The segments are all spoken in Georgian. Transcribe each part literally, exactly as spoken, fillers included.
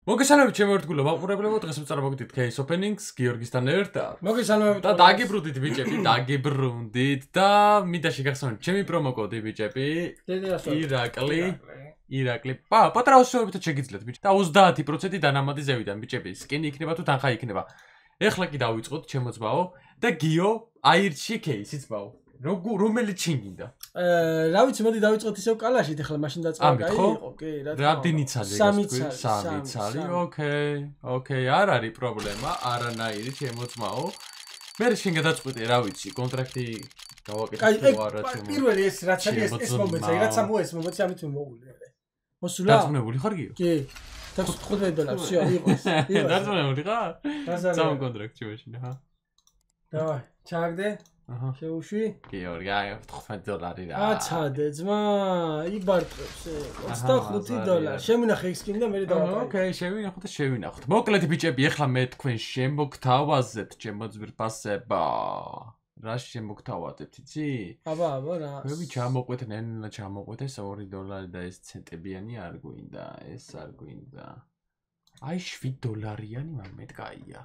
მოგესალმებით ჩემო ერთგულო მაყურებლებო, დღეს ვწარმოგვიდით case openings გიორგისთან ერთად. მოგესალმებით და დაგიბრუნდით ბიჭები, დაგიბრუნდით და მინდა შეგახსენოთ ჩემი პრომო კოდი ბიჭები. ირაკლი, ირაკლი. პა, პატრა უსწორებით შეგიძლიათ ბიჭი. და ოცდაათი პროცენტი დანამატი ზევიდან ბიჭები. სკინი იქნება თუ თანხა იქნება. ეხლა კი დავიწყოთ ჩემო ძმაო და გიო აირჩი case-იც ბაო. რომელი ჩინგინდა? აა, რა ვიცი, მოდი დავიწყოთ ისევ კალაშით, ახლა მაშინ დაწყება კაი იყო, კი, რა თქმა უნდა. რამდენი ცალი გასწვრივ? სამი ცალი. ოკეი, ოკეი, არ არის პრობლემა, არანაირი ჩემო ძმაო. მე შენ გადაწყვეტე, რა ვიცი, კონტრაქტი გავაკეთე თუ არა ჩემო. პირველი ეს რაც არის ეს ეს მომენტი, რაც ამო ეს მომენტი ამით მოვული. მოსულა? დაწუნებული ხარ გიო? კი. თხუთმეტ დოლარი, всё, იყოს. იყოს. დაწუნებული ხარ? სამ კონტრაქტი მაშინ, ხა? დავაი, ჩაგდე. აჰა. შეუშვი? გიორგი, აი თხუთმეტ დოლარი რა. აცადე, ძმა, იბარტყებს ოცდახუთი დოლარი. შემინახე ის სკინი და მე დავაკეთე. ოკეი, შევინახოთ და შევინახოთ. მოკლედ ბიჭები, ეხლა მე თქვენ შემოგთავაზებთ ჩემო ძვირფასება. რა შემოგთავაზებთ, იცი? აბა, აბა, რა. მე ჩამოყვეთნენ, ჩამოყვეთეს ორი დოლარი და ეს ცენტებიანი არ გვინდა, ეს არ გვინდა. აი შვიდ დოლარიანი მამეთ კაია.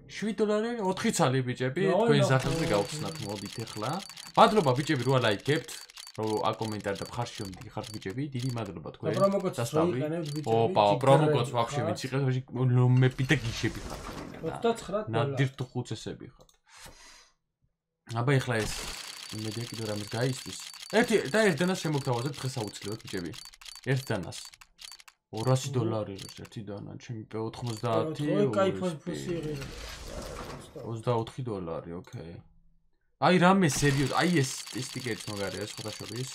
შვიდ დოლარიანი ოთხი ცალი ბიჭები, თქვენ სახელზე გავხსნათ მოდით ახლა. მადლობა ბიჭები რო ლაიქებთ, რო აკომენტართ და ხარში მიდიხართ ბიჭები, დიდი მადლობა თქვენ. დასწავლი. ოპა, პრომო კოდს ვაფშე ვინც იყავს, ლომები და გიშები ხართ. ოცდაცხრა დოლარი. ნადირ თუ ხუცესები ხართ. აბა ახლა ეს იმედია კიდე რამეს გაისთვის. ერთი და ერთ დანას შემოგთავაზებთ დღეს აუცილებლად ბიჭები. ერთ დანას ორასი დოლარი ერთი დანა, ჩემი პე ოთხმოცდაათი. ой, кайფ ფუსი იღე. ოცდაოთხი დოლარი, ოკეი. აი რამე სერიოზ, აი ეს სტიკერიც მაგარია სხვადასხვის.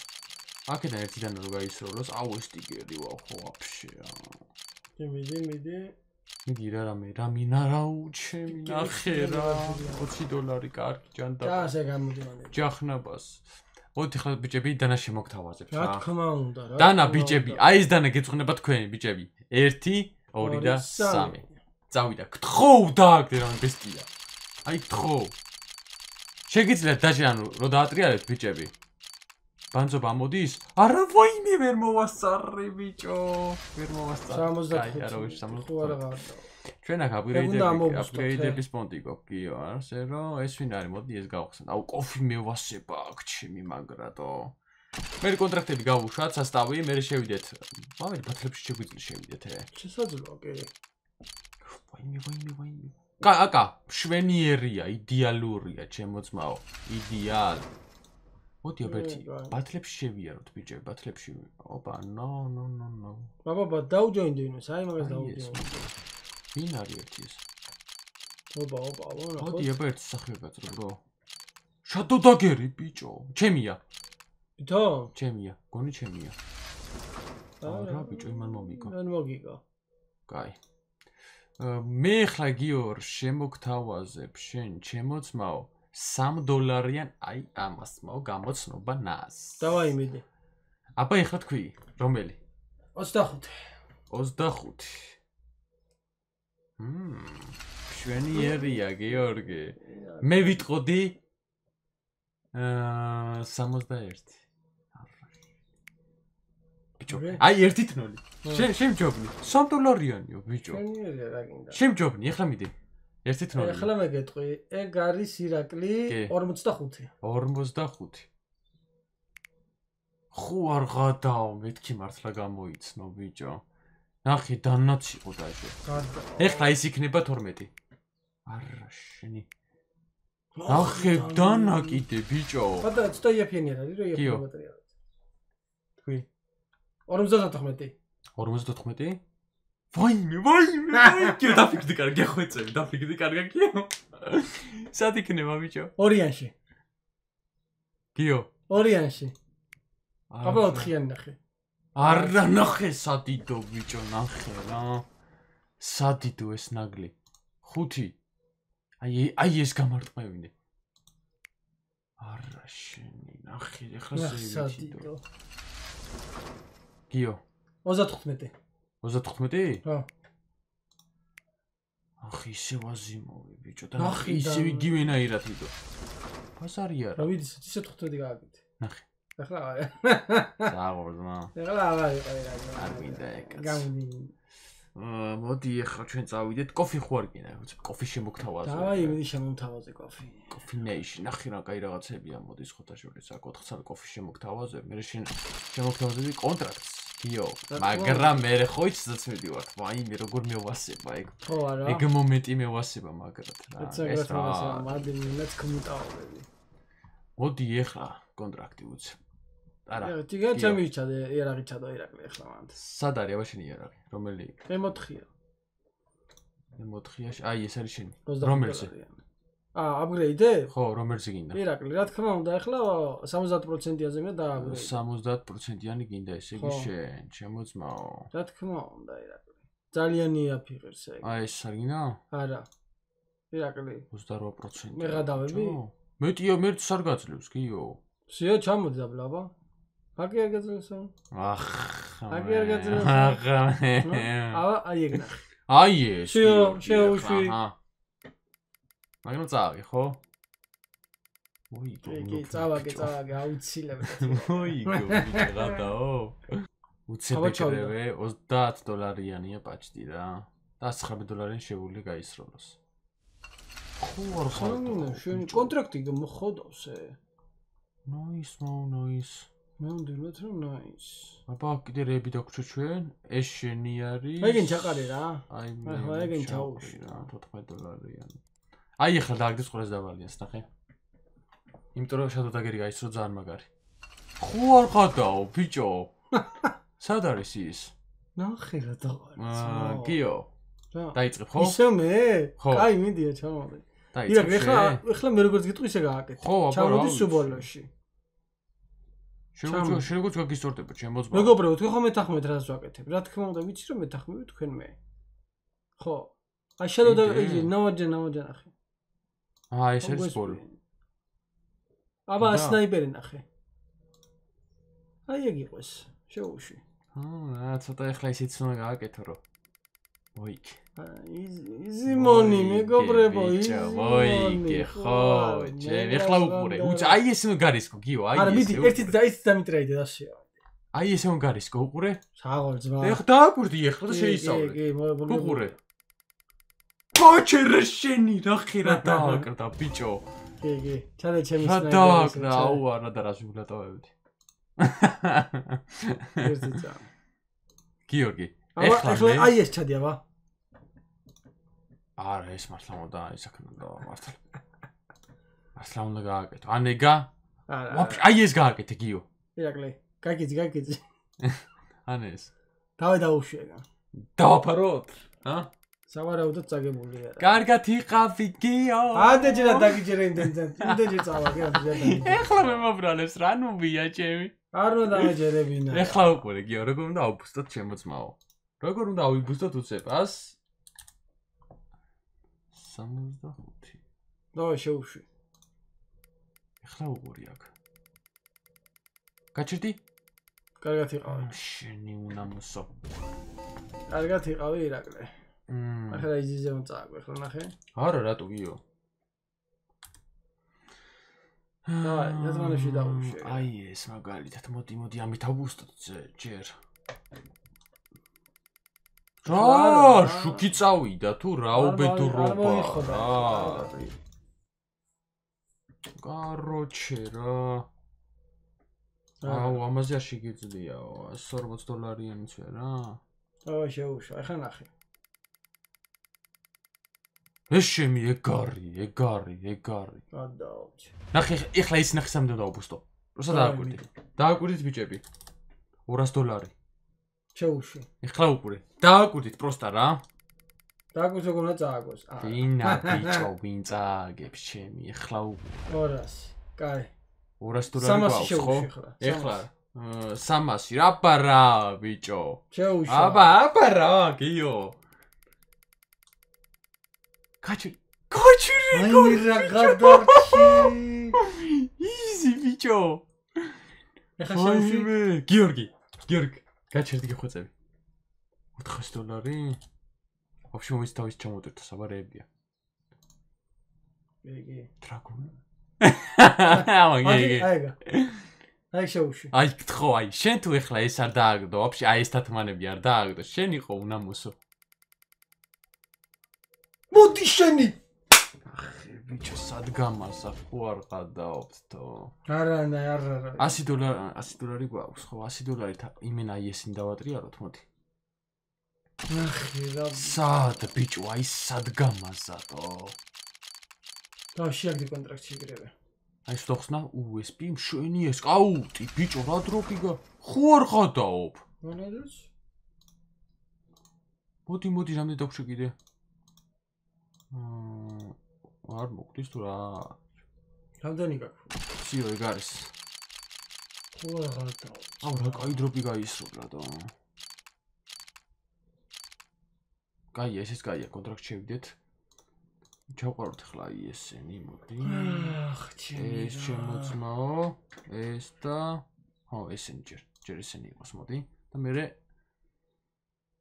აქედან ერთი დანა რო გაისროლოს, აუ ეს სტიკერი ვაუ ხო ვაფშე. მიდი, მიდი. მიდი რა რამე, რა მინა რა უჩემი ნახე რა. ოცი დოლარი კარგი ჯანდა. და ასე გამოდივანე. ჯახნაბას. მოდი ხლა ბიჭები დანა შემოგთავაზებთ რა. რა თქმა უნდა რა. დანა ბიჭები, აი ეს დანა გეწუხნება თქვენი ბიჭები. ერთი, ორი და სამი. წავიდა. გთხოვ დააგდე რა ბესტია. აი გთხოვ. შეგიძლიათ დაჟე ანუ რო დაატრიალეთ ბიჭები. ბანძობა ამოდის? არა ვაიმე ვერ მოვასწარი ბიჭო. ვერ მოვასწარი. სამოცდათხუთი. აი არა ვიშ სამოცდათხუთი. ხო არა გავა. ჩვენ აქ აპგრეიდები, აპგრეიდების პონტი გვაქვს, გიო, ასე რომ ეს ვინ არის? მოდი ეს გავხსენ. აუ კოფი მევასება აქ ჩემი მაგრატო. მე კონტრაქტები გავუშვათ, სასტავი, მე შევიდეთ. მამელი ბათლებში შეგვიძლია შევიდეთ, ე. შესაძლოა, კი. ვაიმე, ვაიმე, ვაიმე. კა, აკა, მშვენიერია, იდეალურია, ჩემო ძმაო. იდეალ. მოდი აბერტი, ბათლებში შევიაროთ, ბიჭები, ბათლებში. ოპა, ნო, ნო, ნო, ნო. ბაბა, დაუჯოინდინოს, აი მაგას დაუჯოინდინოს. ვინ არის ერთი ეს? ოპა, ოპა, ვანა. მოდი აბერტი სახე გაწრო, ბრო. შადო დაგერი, ბიჭო. ჩემია. ვითო? ჩემია, გონი ჩემია. არა, ბიჭო, იმან მომიგო. მან მოგიგო. კაი. მე ხლა გიორ შემოგთავაზებ შენ ჩემო ძმაო სამ დოლარიან აი ამას მაო გამოცნობა ნას. დავაი მიდი. აბა ეხლა თქვი, რომელი? ოცდახუთი. ოცდახუთი. მმ. მშვენიერია გიორგი. მე ვიტყოდი აა სამოცდაერთი. ბიჭო, აი ერთი თნოლი. შენ შენ ჯობნი. სამ დოლარიანიო ბიჭო. მშვენიერია რა გინდა. შენ ჯობნი, ეხლა მიდი. ერთი თნოლი. ეხლა მე გეტყვი, ეგ არის ირაკლი ორმოცდახუთი. ორმოცდახუთი. ხო არ გადაო, მეთქი მართლა გამოიცნო ბიჭო. ნახე დანაც იყო დაჟე. ეხლა ის იქნება თორმეტი. არა შენი. ნახე დანა კიდე ბიჭო. ბატა ცოტა იაფიანი არის, რა იაფია ბატერია. თქვი. ორმოცდათოთხმეტი. ორმოცდათოთხმეტი? ვაიმე, ვაიმე, ვაიმე, დაფიქრდი კარგი, ახვეწები, დაფიქრდი კარგა გიო. სად იქნება ბიჭო? ორიანში. გიო. ორიანში. აბა ოთხიანი ნახე. არა ნახე სადიდო ბიჭო, ნახე რა. სადიდო ეს ნაგლი. ხუთი. აი აი ეს გამარტყმევინე. არა შენი, ნახე, ეხლა სადიდო. გიო. ოცდათხუთმეტი. ოცდათხუთმეტი? ხო. ახ ისე ვაზიმოვე ბიჭო და ნახე ისე იგივენაირად იდო. ბაზარია რა. რა ვიცი, ისე თხუთმეტი გააკეთე. ნახე. ახლა დააღორდა. ახლა აღარ იყო რა. არ მინდა ეკაც. გამდი. მოდი ახლა ჩვენ წავიდეთ კოფი ხო არ გინდა კოფი შემოგთავაზე დავაი მიდი შემოგთავაზე კოფი კოფი ნეიში ნახე რა კაი რაღაცებია მოდი ხოთა შორის აქ ოთხ კოფი შემოგთავაზე მე შენ შემოგთავაზები კონტრაქტს გიო მაგრამ მე ხო იცოდაც მიდივარ ვაიმე როგორ მევასება ეგ ხო არა ეგ მომენტი მევასება მაგრად რა ეს რა მადი მეც კომუტავრები მოდი ახლა კონტრაქტი უცე არა ტიგა ჩემი ჩადე იერაღი ჩადო ირაკლი ახლა მანდ სად არის აბა შენი იერაღი რომელი ემ ოთხია ემ ოთხიაში აი ეს არის შენი რომელზე აა აპგრეიდე ხო რომელზე გინდა ირაკლი რა თქმა უნდა ახლა სამოცდაათ პროცენტიაზე მე დააპგრეიდე სამოცდაათ პროცენტიანი გინდა ესე იგი შენ შემოწმაო რა თქმა უნდა ირაკლი ძალიან იაფიღებს ეგ აი ეს არ გინდა არა ირაკლი ოცდარვა პროცენტი მე გადავები მეტიო მერც არ გაძლევს გიო სიო ჩამოდი დაბლაბა აკი არ გაძლევსო ახ აკი არ გაძლევსო ახ აბა აი ეგ ნახე აი ეს სიო შეუშვი მაგრამ წავი ხო მოიგო კი წავაგე წავაგე აუცილებლად მოიგო გადაო უცებეკრევე ოცდაათ დოლარიანია პაჭდი რა და ცხრამეტ დოლარიანი შეუძლია გაისროლოს ხო არ ხარ შენ კონტრაქტი მოხოდავს ე ნოის ნოის მე უნდათ რომ ნოის აბა კიდე რეები დაგვრჩა ჩვენ ეს შენი არის ეგენ ჩაყარე რა აი მე ეგენ ჩაუშვი რა თოთხმეტ დოლარიანი აი ახლა დააგდეს ყურეს დავალიანს ნახე იმიტომ რომ შადო დაგერი გაისრო ძალიან მაგარი ხო არ ხადაო ბიჭო სად არის ის ნახე რა დავარ გიო რა დაიწყებ ხო ისე მე კაი მიდია ჩამოვიდე დაიწყებ ახლა ახლა მე როგორც გიტყვი ისე გააკეთე ჩამოდი სუბოლოში შეგვიძლია შეგვიძლია გაგისტორდება შემოძმა მეგობრებო თქვენ ხო მეთახმეთ რას ვაკეთებ რა თქმა უნდა ვიცი რომ მეთახმები თქვენ მე ხო აი შედო და იგი ნავაჯე ნავაჯე ნახე აა ეს არის ბოლო აბა სნაიპერი ნახე აი ეგ იყოს შეუშვი აა ცოტა ახლა ისიც უნდა გააკეთო რომ მოიგ იზი მონი მეგობრებო იზი მოიგე ხო ჩემ ახლა უყურე უც აი ეს უნდა გარისკო გიო აი ეს არა მიდი ერთი დაიც დამიტრაიდე დასია აი ეს უნდა გარისკო უყურე საღოლ ძმა ეხ დააკვირდი ახლა და შეისწავლე კი კი უყურე კოჩერ შენი რა ხირა დააკრდა ბიჭო კი კი ჩადე ჩემი სნაიპერი რა დააკრა აუ არა და რა შეგულატავებდი ერთი წა გიორგი ეხლა აი ეს ჩადი აბა არა ეს მართლა უნდა აი საქმე უნდა მართლა მართლა უნდა გააკეთო ანეგა არა აი ეს გააკეთე გიო ირაკლი გაგიძი გაგიძი ან ეს დავე დაუშვია დავაფაროთ ა სავარაუდოდ წაგებული არა კარგად იყავი გიო ამდე ჯერა დაგიჯერე იმდენთან იმდენ ჯერ წავაგე ამდე ეხლა მე მომბრალებს რა ნუ ვია ჩემი არ უნდა დამეჯერებინა ეხლა უყურე გიო როგორ უნდა აუბუსტოთ შემოწმაო როგორ უნდა ავიბუსტოთ უცებას სამოცდახუთი დავай შეუშვი ეხლა უყური აქ გაჩერდი კარგად იყავი შენი უნამოსო კარგად იყავი ირაკლი მმ ახლა იზიზე უნდა წააგვე ახლა ნახე არა რატო გიო დავай ზათმანებში დაუშვი აი ეს მაგალითად მოდი მოდი ამით ავბუსტოთ ჯერ რა შუქი წავიდა თუ რა უბედურობა რა კაროჩე რა აუ ამაზე არ შეგიძლიაო ას ორმოც დოლარიანიც ვერა დავай შეუშვა ახლა ნახე ეს შემი ეგარი ეგარი ეგარი გადაავჭი ნახე ეხლა ის ნახე სამდე დაუბუსტო როცა დააკვირდი დააკვირდით ბიჭები ორასი დოლარი შეუშვი ეხლა უყურე დააკვირდით პროსტა რა დააკვირდით როგორ უნდა წააგოს ვინა ბიჭო ვინ წააგებს ჩემი ეხლა უყურე ორასი კაი ორასი დოლარი გვაქვს ხო ეხლა სამასი რა პარა ბიჭო შეუშვა აბა აბა რა გიო კაჩი კაჩი აი რა გადარჩი იზი ბიჭო ეხლა შეუშვი გიორგი გიორგი გაჩერდი გიხვეწები ოთხასი დოლარი ვაფშე მომის თავის ჩამოტვირთო საბარეებია იგი დრაგუნი ამა აიგა აი შეუშვი აი ხო აი შენ თუ ეხლა ეს არ დააგდო ვაფშე აი ეს თათმანები არ დააგდო შენ იყო უნამოსო მოდი შენი ბიჭო სად გამარსა ხო არ გადაობთო არა არა არა ასი დოლარი ასი დოლარი გვაქვს ხო ასი დოლარით იმენა აი ესინ დავატრიალოთ მოდი ახი რა სად ბიჭო აი სად გამარსატო და შეაგდი კონტრაქტი იგრევე აი შეხსნა უსპ მშვენი ეს კაუტი ბიჭო რა დროპი გა ხო არ გადაობ მონადოს მოდი მოდი რამდენი დაგვშე კიდე აა არ მოგდის თუ რა რამდენი გაქვს სიო ეგ არის ხო არ გადაობ აუ რა კაი დროპი გაისროლა და კაი ესეც კაია კონტრაქტ შევიდეთ ჩავყაროთ ახლა აი ესენი მოდი ახ ჩემი ეს შემოწმაო ეს და ხო ესენი ჯერ ჯერ ესენი იყოს მოდი და მე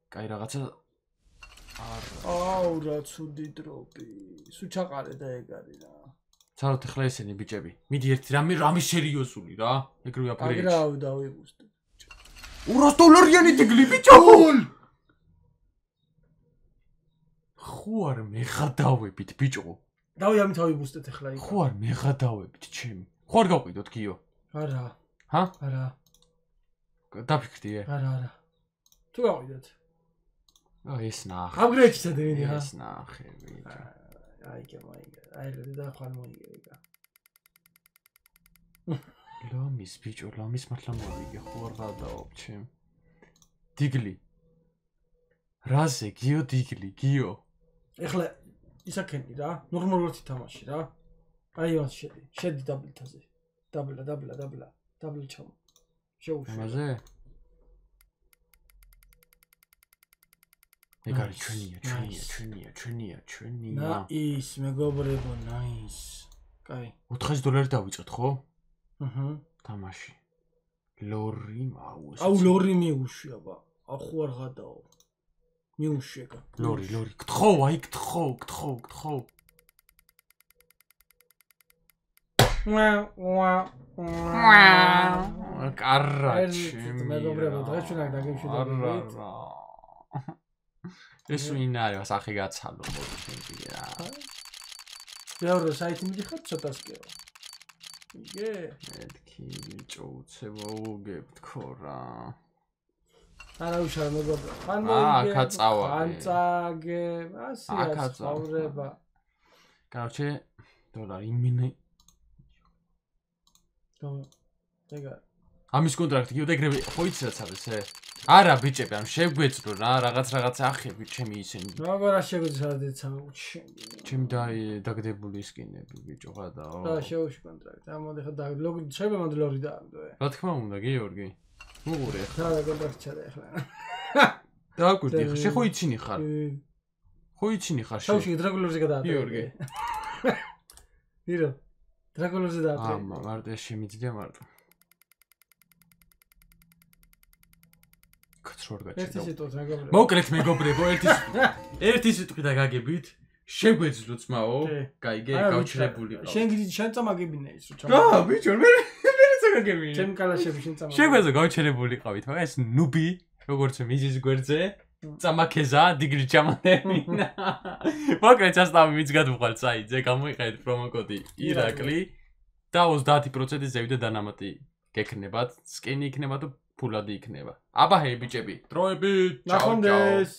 კაი რაღაცა აუ რა ცუდი დროპი სულ ჩაყარე და ეგ არის რა ცალოთ ახლა ესენი ბიჭები მიდი ერთი რამე რამე სერიოზული რა ეგრევე აფრეიჩი აგრა დავიბუსტე ორას დოლარიანი დიგლი ბიჭო ხო არ მეხადავებით ბიჭო დავი ამით ავიბუსტეთ ახლა იქ ხო არ მეხადავებით ჩემი ხო არ გავყიდოთ გიო არა ჰა არა დაფიქრდი ე არა არა თუ გავიდეთ აი ეს ნახე აპგრეიდში სადევინი ჰა ეს ნახე ბიჭო აი კი მაიგა აი და ხარ მოიგე ლომის ბიჭო ლომის მართლა მოვიგე ხო არ გადაობ ჩემ დიგლი რაზე გიო დიგლი გიო ეხლა ისაკენი რა ნორმალურად ითამაში რა აი მას შედი შედი დაბლთაზე დაბლა დაბლა დაბლა დაბლა ჩამო შეუშვა ამაზე ეგ არის ჩვენია ჩვენია ჩვენია ჩვენია ჩვენია ნაის მეგობრებო ნაის კაი ოთხასი დოლარი დავიწყეთ ხო აჰა თამაში ლორი მაუს აუ ლორი მიუშვია ბა ახო არ გადაო მიუშვია ლორი ლორი გთხო აი გთხო გთხო გთხო ვა ვა ვა კარაჩი მეგობრებო დღეს ჩვენ აქ დაგემშვიდობებით ეს ვინ არის სახე გაცალო მოდი რა მეორე საიტი მიდიხარ ცოტას კეო იგე მეთქი ბიჭო უცებო უგებთქო რა არა უშავ მეგობრებო ხან მოიგე აქა წავა ხან წაგე ასია ცხოვრება короче დოლარი იმინე და ეგა ამის კონტრაქტი კიდე ეგრევე ხო იცი რაც არის ე არა ბიჭები ამ შეგვეწრო რა რაღაც რაღაც ახები ჩემი ისინი როგორ არ შეგვეწრო დეცა ჩემი და დაგდებული სკინები ბიჭო გადაო და შეუშვი კონტრაქტი ამოდი ხა და ლოგი შეიძლება მანდლორი დააგდო ე რა თქმა უნდა გიორგი უყურე ხა და კონტრაქტი ჩადა ახლა დააკვირდი ხა შე ხო იცინი ხარ ხო იცინი ხარ შე შევში დრაგულორზე გადაატო გიორგი ვირო დრაგულორზე დაატო ამა მარტო შემიძლია მარტო ერთი სიტყვით მეგობრებო მოკლედ მეგობრებო ერთი ერთი სიტყვით და გაგებით შეგვეძლო ძმაო გაიგე გავჩერებული ყავ შენ გიძი შენ წამაგებინე ის რო ჩამო რა ბიჭო მე მე წამაგებინე ჩემ კალაშები შენ წამაგებინე შეგვეძლო გავჩერებული ყავით მაგრამ ეს ნუბი როგორც მიზის გვერდზე წამაქეზა დიგრი ჩამანებინა მოკლედ ჩასტავი მიც გადვხვალ საიტზე გამოიყენეთ პრომოკოდი ირაკლი და ოცდაათი პროცენტი ზევით და დანამატი გექნებათ სკენი იქნება თუ ფულადი იქნება აბა ჰეი ბიჭები დროებით ნახვამდის